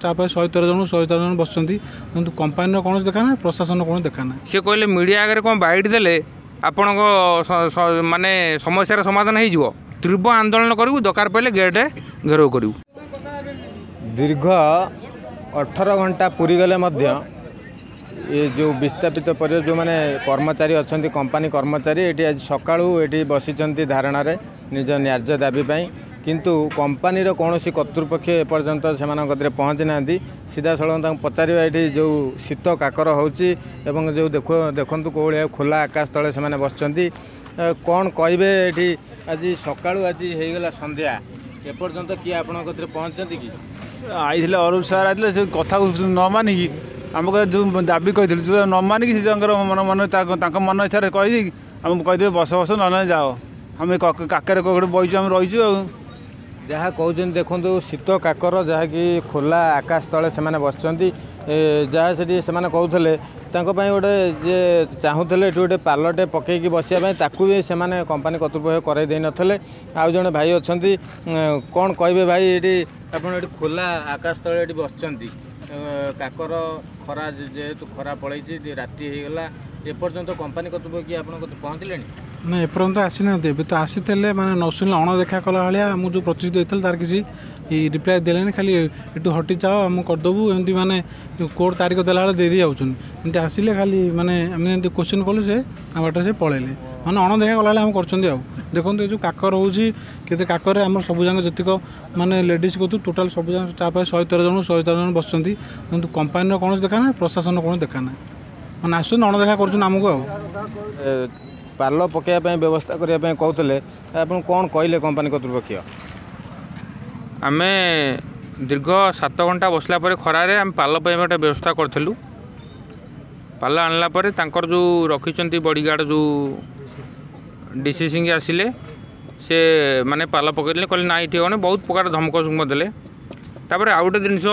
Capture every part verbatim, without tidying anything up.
ତାପରେ ଶହେ ତେର ଜଣ ଶହେ ତେର ଜଣ ବସିଛନ୍ତି କିନ୍ତୁ କମ୍ପାନୀର କୌଣସି ଦେଖା ନାହିଁ ପ୍ରଶାସନର କୌଣସି ଦେଖା ନାହିଁ ସେ କହିଲେ ମିଡ଼ିଆ ଆଗରେ କ'ଣ ବାଇଟ୍ ଦେଲେ ଆପଣଙ୍କ ମାନେ ସମସ୍ୟାର ସମାଧାନ ହେଇଯିବ ତୀବ୍ର ଆନ୍ଦୋଳନ କରିବୁ ଦରକାର ପଡ଼ିଲେ ଗେଟ୍ ଘେରାଉ କରିବୁ ଦୀର୍ଘ ଅଠର ଘଣ୍ଟା ପୁରିଗଲେ ମଧ୍ୟ ଏ ଯେଉଁ ବିସ୍ଥାପିତ ପରିବାର ଯେଉଁମାନେ କର୍ମଚାରୀ ଅଛନ୍ତି କମ୍ପାନୀ କର୍ମଚାରୀ ଏଠି ଆଜି ସକାଳୁ ଏଠି ବସିଛନ୍ତି ଧାରଣାରେ ନିଜ ନ୍ୟାଯ୍ୟ ଦାବି ପାଇଁ କିନ୍ତୁ କମ୍ପାନୀର କୌଣସି କର୍ତ୍ତୃପକ୍ଷ ଏପର୍ଯ୍ୟନ୍ତ ସେମାନଙ୍କ କତିରେ ପହଞ୍ଚି ନାହାନ୍ତି ସିଧାସଳଖ ତାଙ୍କୁ ପଚାରିବା ଏଠି ଯେଉଁ ଶୀତ କାକର ହେଉଛି ଏବଂ ଯେଉଁ ଦେଖୁ ଦେଖନ୍ତୁ କେଉଁ ଭଳିଆ ଖୋଲା ଆକାଶ ତଳେ ସେମାନେ ବସିଛନ୍ତି କ'ଣ କହିବେ ଏଠି ଆଜି ସକାଳୁ ଆଜି ହେଇଗଲା ସନ୍ଧ୍ୟା ଏପର୍ଯ୍ୟନ୍ତ କିଏ ଆପଣଙ୍କ କତିରେ ପହଞ୍ଚିଛନ୍ତି କି ଆଇଥିଲେ ଅରୁପ ସାର୍ ଆଇଥିଲେ ସେ କଥାକୁ ନ ମାନିକି ଆମ କଥା ଯେଉଁ ଦାବି କହିଥିଲୁ ଯେଉଁ ନ ମାନିକି ସେ ତାଙ୍କର ମନ ମନ ତାଙ୍କ ମନ ଇଚ୍ଛାରେ କହିଦେଇକି ଆମକୁ କହିଦେବେ ବସ ବସ ନହେଲେ ଯାଅ ଆମେ କାକରେ କୋଉଠି ବଇଛୁ ଆମେ ରହିଛୁ ଆଉ ଯାହା କହୁଛନ୍ତି ଦେଖନ୍ତୁ ଶୀତ କାକର ଯାହାକି ଖୋଲା ଆକାଶ ତଳେ ସେମାନେ ବସିଛନ୍ତି ଯାହା ସେଠି ସେମାନେ କହୁଥିଲେ ତାଙ୍କ ପାଇଁ ଗୋଟେ ଯିଏ ଚାହୁଁଥିଲେ ଏଠି ଗୋଟେ ପାଲଟେ ପକେଇକି ବସିବା ପାଇଁ ତାକୁ ବି ସେମାନେ କମ୍ପାନୀ କର୍ତ୍ତୃପକ୍ଷ କରାଇ ଦେଇନଥିଲେ ଆଉ ଜଣେ ଭାଇ ଅଛନ୍ତି କ'ଣ କହିବେ ଭାଇ ଏଠି ଆପଣ ଏଠି ଖୋଲା ଆକାଶ ତଳେ ଏଠି ବସିଛନ୍ତି କାକର ଖରା ଯେହେତୁ ଖରା ପଳେଇଛି ରାତି ହେଇଗଲା ଏପର୍ଯ୍ୟନ୍ତ କମ୍ପାନୀ କର୍ତ୍ତୃପକ୍ଷ କି ଆପଣଙ୍କ ପହଞ୍ଚିଲେଣି ନା ଏପର୍ଯ୍ୟନ୍ତ ଆସିନାହାନ୍ତି ଏବେ ତ ଆସିଥିଲେ ମାନେ ନ ଶୁଣିଲେ ଅଣଦେଖା କଲା ଭଳିଆ ମୁଁ ଯେଉଁ ପ୍ରତିଶ୍ରୁତି ଦେଇଥିଲି ତାର କିଛି ରିପ୍ଲାଏ ଦେଲେନି ଖାଲି ଏଠୁ ହଟି ଯାଅ ଆମେ କରିଦେବୁ ଏମିତି ମାନେ କୋର୍ଟ ତାରିଖ ଦେଲା ବେଳେ ଦେଇ ଦେଇ ଯାଉଛନ୍ତି ଏମିତି ଆସିଲେ ଖାଲି ମାନେ ଆମେ ଏମିତି କୋଶ୍ଚିନ୍ କଲୁ ସେ ତାଙ୍କ ବାଟରେ ସେ ପଳେଇଲେ ମାନେ ଅଣଦେଖା କଲା ଭଳିଆ ଆମେ କରୁଛନ୍ତି ଆଉ ଦେଖନ୍ତୁ ଏ ଯେଉଁ କାକର ହେଉଛି କେତେ କାକରରେ ଆମର ସବୁ ଯାକ ଯେତିକ ମାନେ ଲେଡ଼ିଜ୍ କତୁ ଟୋଟାଲ୍ ସବୁ ଯାକ ଷ୍ଟାଫ୍ ଶହେ ତେର ଜଣ ଶହେ ତେର ଜଣ ବସିଛନ୍ତି କିନ୍ତୁ କମ୍ପାନୀର କୌଣସି ଦେଖା ନାହିଁ ପ୍ରଶାସନର କୌଣସି ଦେଖା ନାହିଁ ମାନେ ଆସୁଛନ୍ତି ଅଣଦେଖା କରୁଛନ୍ତି ଆମକୁ ଆଉ ପାଲ ପକାଇବା ପାଇଁ ବ୍ୟବସ୍ଥା କରିବା ପାଇଁ କହୁଥିଲେ ଆପଣ କ'ଣ କହିଲେ କମ୍ପାନୀ କର୍ତ୍ତୃପକ୍ଷ ଆମେ ଦୀର୍ଘ ସାତ ଘଣ୍ଟା ବସିଲା ପରେ ଖରାରେ ଆମେ ପାଲ ପାଇଁ ଗୋଟେ ବ୍ୟବସ୍ଥା କରିଥିଲୁ ପାଲ ଆଣିଲା ପରେ ତାଙ୍କର ଯେଉଁ ରଖିଛନ୍ତି ବଡ଼ିଗାର୍ଡ଼ ଯେଉଁ ଡି ସି ସିଂ ଆସିଲେ ସେ ମାନେ ପାଲ ପକାଇଲେ କହିଲେ ନା ଏଠି ହେବନି ବହୁତ ପ୍ରକାର ଧମକ ଚମକ ଦେଲେ ତାପରେ ଆଉ ଗୋଟେ ଜିନିଷ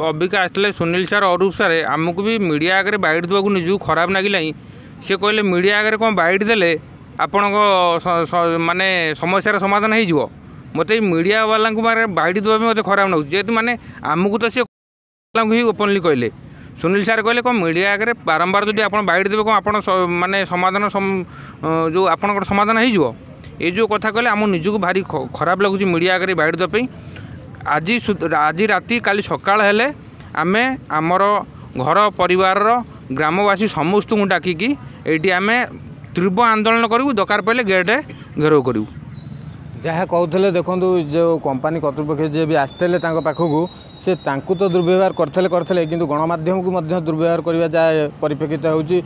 ଅବିକା ଆସିଥିଲେ ସୁନୀଲ ସାର୍ ଅରୁପ ସାର୍ ଆମକୁ ବି ମିଡ଼ିଆ ଆଗରେ ବାଇଟ୍ ଦେବାକୁ ନିଜକୁ ଖରାପ ଲାଗିଲାଣି ସେ କହିଲେ ମିଡ଼ିଆ ଆଗରେ କ'ଣ ବାଇଟ୍ ଦେଲେ ଆପଣଙ୍କ ମାନେ ସମସ୍ୟାର ସମାଧାନ ହେଇଯିବ ମୋତେ ଏଇ ମିଡ଼ିଆ ବାଲାଙ୍କୁ ମାନେ ବାଇଟ୍ ଦେବା ପାଇଁ ମୋତେ ଖରାପ ଲାଗୁଛି ଯେହେତୁ ମାନେ ଆମକୁ ତ ସେ ହିଁ ଓପନଲି କହିଲେ ସୁନୀଲ ସାର୍ କହିଲେ କ'ଣ ମିଡ଼ିଆ ଆଗରେ ବାରମ୍ବାର ଯଦି ଆପଣ ବାଇଟ୍ ଦେବେ କ'ଣ ଆପଣ ମାନେ ସମାଧାନ ଯେଉଁ ଆପଣଙ୍କର ସମାଧାନ ହେଇଯିବ ଏ ଯେଉଁ କଥା କହିଲେ ଆମ ନିଜକୁ ଭାରି ଖରାପ ଲାଗୁଛି ମିଡ଼ିଆ ଆଗରେ ବାଇଟ୍ ଦେବା ପାଇଁ ଆଜି ଆଜି ରାତି କାଲି ସକାଳ ହେଲେ ଆମେ ଆମର ଘର ପରିବାରର ଗ୍ରାମବାସୀ ସମସ୍ତଙ୍କୁ ଡାକିକି ଏଇଠି ଆମେ ତୀବ୍ର ଆନ୍ଦୋଳନ କରିବୁ ଦରକାର ପଡ଼ିଲେ ଗେଟ୍ ଘେରାଉ କରିବୁ ଯାହା କହୁଥିଲେ ଦେଖନ୍ତୁ ଯେଉଁ କମ୍ପାନୀ କର୍ତ୍ତୃପକ୍ଷ ଯିଏ ବି ଆସିଥିଲେ ତାଙ୍କ ପାଖକୁ ସେ ତାଙ୍କୁ ତ ଦୁର୍ବ୍ୟବହାର କରିଥିଲେ କରିଥିଲେ କିନ୍ତୁ ଗଣମାଧ୍ୟମକୁ ମଧ୍ୟ ଦୁର୍ବ୍ୟବହାର କରିବା ଯାହା ପରିପ୍ରେକ୍ଷିତ ହେଉଛି